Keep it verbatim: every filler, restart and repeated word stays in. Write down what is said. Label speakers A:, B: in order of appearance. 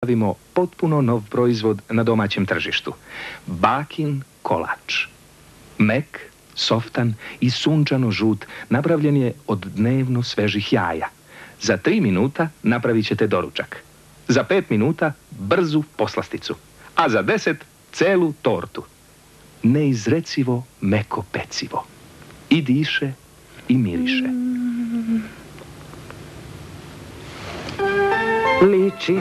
A: Stavimo potpuno nov proizvod na domaćem tržištu. Bakin kolač. Mek, softan i sunčano žut napravljen je od dnevno svežih jaja. Za tri minuta napravit ćete doručak. Za pet minuta brzu poslasticu. A za deset celu tortu. Neizrecivo meko pecivo. I diše i miriše.
B: Liči